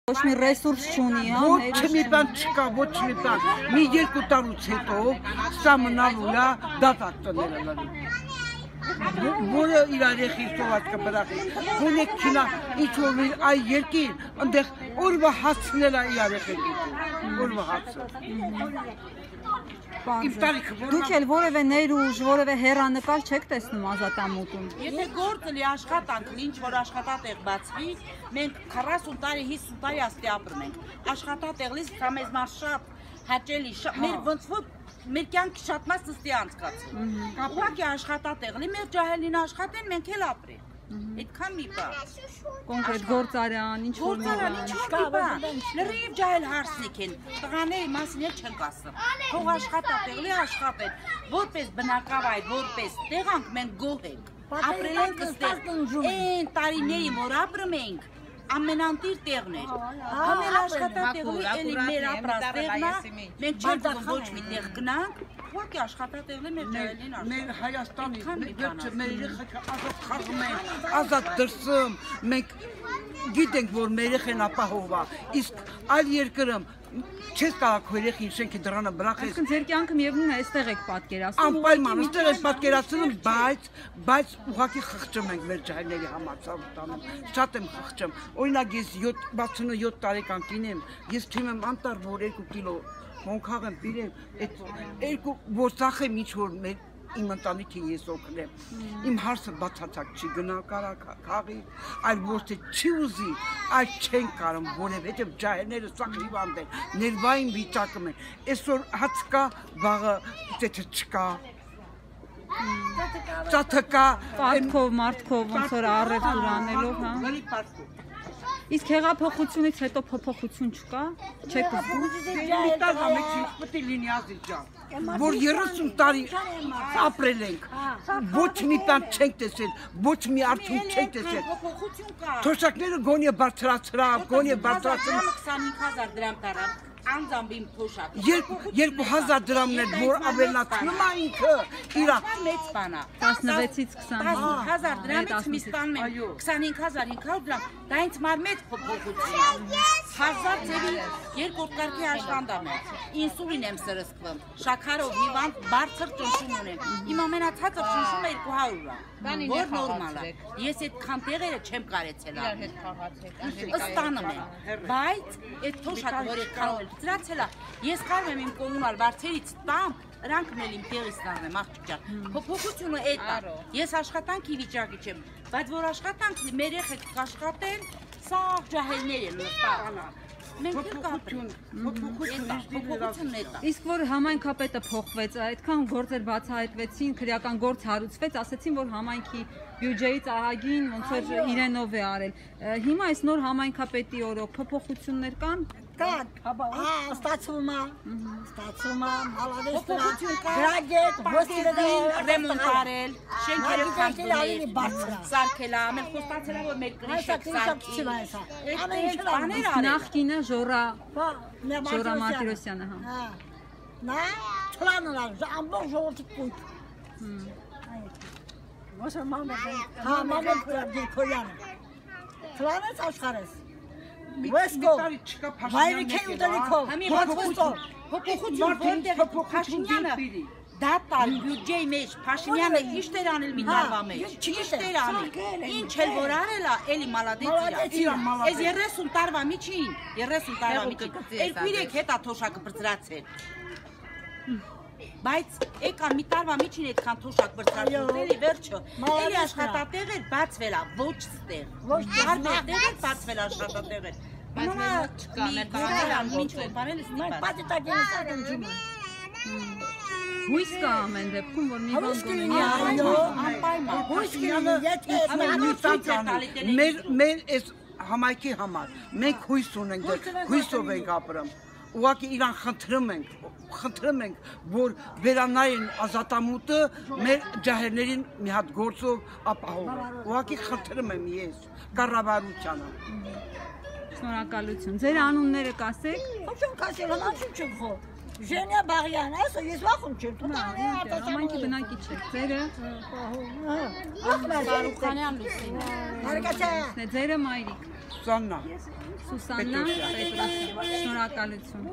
Ոչ մի ռեսուրս չունի, հա։ Ոչ մի բան չկա, ոչ մի բան։ Մի 2 տարուց հետո սա մնալու է դատակ տները լալու։ Որը իր երեխի սոված կբրախի։ Գոնե քինա ինչ որ այ երկին, այնտեղ օրվա հացնել է իր երեխեքի։ Օրվա հացը։ Դուք էլ որևէ ներուժ, որևէ հեռանկար չեք տեսնում ազատամուտում։ Եթե գործը լի աշխատանք, ինչ որ աշխատատեղ բացվի, մենք 40 տարի, 50 տարի աստի ապրում ենք։ Աշխատատեղից դա մեզ մար շատ հաճելի, մեր ոնց որ մեր կյանքի շատ մաս ստի անցկացել։ Ուղղակի աշխատատեղ լի, մեր ջահելին աշխատեն, մենք էլ ապրենք։ Այդքան մի բան։ Կոնկրետ գործարան, ինչ որ մի բան։ Լրիվ ջահել հարսնիկ են, տղաների մասին էլ չենք ասում։ Թող աշխատատեղ լի աշխատեն, որպես բնակավայր, որպես տեղանք մենք գոհ ենք։ Ապրել ենք ստեղ, այն տարիներին, որ ապրում ենք, ամենանտիր տեղն էր։ Ամեն աշխատատեղի էլի մեր ապրած տեղն է, մենք չենք ուզում ոչ մի տեղ գնանք, ուղղակի աշխատատեղն է մեր ջահելին աշխատում։ Մեր Հայաստանի վերջը մեր երեխեքը ազատ խաղում են, ազատ դրսում, մենք գիտենք, որ մեր երեխեն ապահով է, իսկ այլ երկրում չես կարող քո երեխին շենքի դռանը բրախես։ Այսինքն ձեր կյանքը միևնույն է, այստեղ եք պատկերացնում։ Անպայման, այստեղ եք պատկերացնում, բայց ուղղակի խղճում ենք մեր ջահելների համար ցավտանում։ Շատ եմ խղճում։ Օրինակ ես 67 տարեկան կին եմ, ես թույն եմ անտառ, որ 2 կիլո մոնքաղ եմ բիրեմ, այդ 2 որ ծախեմ ինչ որ մեր իմ ընտանիքին ես օգնեմ։ Իմ հարցը բացարձակ չի գնա կարա քաղի, այլ ոչ թե չի ուզի, այլ չեն կարող, որովհետև ջահելները սա հիվանդ են, ներվային վիճակում են։ Այսօր հաց կա, վաղը ծեթը չկա։ Ծաթը կա, Պարտքով, մարդքով ոնց որ առևտուր անելով, հա։ Իսկ հեղափոխությունից հետո փոփոխություն չկա։ Չեք զգում։ Պետք է լինի Ազիջան, որ 30 տարի ապրել ենք, ոչ մի բան չենք տեսել, ոչ մի արդյունք չենք տեսել։ Թոշակները գոնե բարձրացրավ, գոնե բարձրացրավ։ 25000 դրամ տարավ։ Անձամբ իմ թոշակը 2000 դրամն էր, որ ավելացնում է ինքը իրա մեծ բան է 16-ից 25000 դրամից մի ստանում եմ 25500 դրամ, դա ինձ մար մեծ փոփոխություն է։ 1000 ծերի երկրորդ կարգի աշխատանք եմ, ինսուլին եմ սրսկվում, շաքարով հիվանդ բարձր ճնշում ունեմ, իմ ամենացածր ճնշումը 200 է, որ նորմալ է։ Ես այդքան տեղերը չեմ կարեցել ստանում եմ, բայց այդ թոշակը, որ այդքան ծրացել է, ես կարող եմ իմ կոմունալ վարձերից տամ, նրանքն էլ իմ տեղից ստանեմ, աղջիկ ջան, փոփոխությունը էդ է, ես աշխատանքի վիճակի չեմ, բայց որ աշխատանք մեր երեխեք կաշխատեն, սա ջահելներ են նստանան, մենք էլ կապրենք, փոփոխությունն էդ է։ Իսկ որ համայնքապետը փոխվեց, այդքան գործեր բացահայտվեցին, քրեական գործ հարուցվեց, ասեցին, որ համայնքի բյուջեից ահագին ոնց որ իրենով է արել։ Հիմա այս նոր համայնքապետի օրոք փոփոխություններ կան։ Կան, ստացվում է, մալավեստրա, գրագետ, ոստիրեդային ռեմոնտ արել, շենքերը քանդել, սարքել, ամեն խոստացել որ մեր կրիշակ սարքի։ Նախկինը Ժորա Մարտիրոսյանը, հա։ Նա չլանել է, ամբողջ ժողովրդի կույտ։ Հա, մամեն Դիրքոյանը։ Չլանեց աշխարհես։ Վայրիքի ուտելիքով, փոփոխություն որտեղ Փաշինյանը դատալ բյուջեի մեջ Փաշինյանը ինչ էր անել մի տարվա մեջ, ինչ էր անել, ինչ էլ որ արել է, էլի մալադեց իրա, այս 30 տարվա միջին, 30 տարվա միջին, 2-3 հետա թոշակը բրծրացել, բայց եկան մի տարվա միջին այդքան թոշակ բրծրացել, էլի վերջը, էլի աշխատատեղ էր բացվել է, ոչ ստեղ, հարմեր տեղ էր բացվել աշխատատեղ էր, Մամա չկա, մեր բաներան, ինչ որ բարել ես նիպած։ Պատիտագենս ատենջում է։ Հույս կա ամեն դեպքում, որ մի բան գոնի անպայման։ Հույս կլինի, եթե մեր այս համայնքի համար մենք հույս ունենք, հույսով ենք ապրում։ Ուղղակի իրան խնդրում ենք, որ վերանային ազատամուտը մեր ջահելներին մի հատ գործով ապահովեն։ Ուղղակի խնդրում եմ ես կառավարությանը։ Շնորհակալություն։ Ձեր անունները կասեք։ Ոչ կասել, հնաչում չեմ խոր։ Ժենիա Բաղյան, այսօր ես վախում չեմ։ Համայնքի բնակիչ եք, ձերը։ Բարուխանյան Լուսինե։ Հարգացա։ Ձերը մայրիկ։ Սուսաննա Սուսաննա Պետրոսյան։ Շնորհակալություն։